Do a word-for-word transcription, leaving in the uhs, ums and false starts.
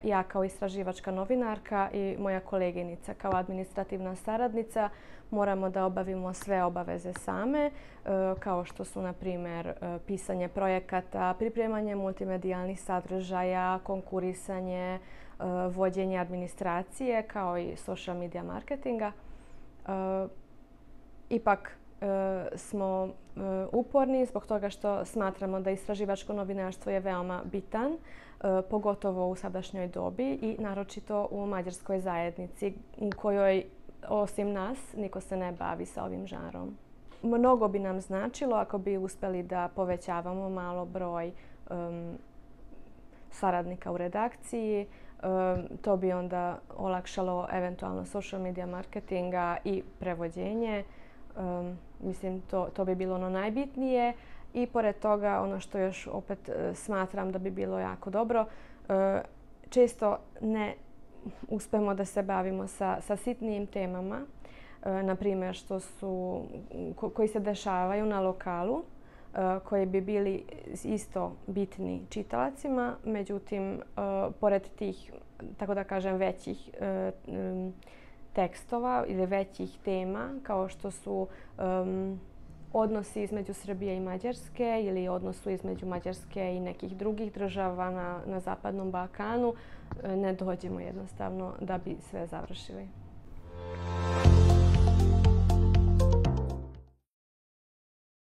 ja kao istraživačka novinarka i moja koleginica kao administrativna saradnica moramo da obavimo sve obaveze same, kao što su, na primjer, pisanje projekata, pripremanje multimedijalnih sadržaja, konkurisanje, vođenje administracije, kao i social media marketinga. Ipak smo uporni zbog toga što smatramo da istraživačko novinarstvo je veoma bitan, pogotovo u sadašnjoj dobi i naročito u mađarskoj zajednici u kojoj osim nas niko se ne bavi sa ovim žanrom. Mnogo bi nam značilo ako bi uspjeli da povećavamo malo broj um, saradnika u redakciji. Um, to bi onda olakšalo eventualno social media marketinga i prevođenje. Um, mislim, to, to bi bilo ono najbitnije. I pored toga, ono što još opet uh, smatram da bi bilo jako dobro, uh, često ne uspemo da se bavimo sa, sa sitnijim temama, uh, na primjer što su, ko, koji se dešavaju na lokalu, uh, koji bi bili isto bitni čitalacima, međutim, uh, pored tih, tako da kažem, većih uh, um, tekstova ili većih tema, kao što su um, odnosi između Srbije i Mađarske ili odnosu između Mađarske i nekih drugih država na, na Zapadnom Balkanu, ne dođemo jednostavno da bi sve završili.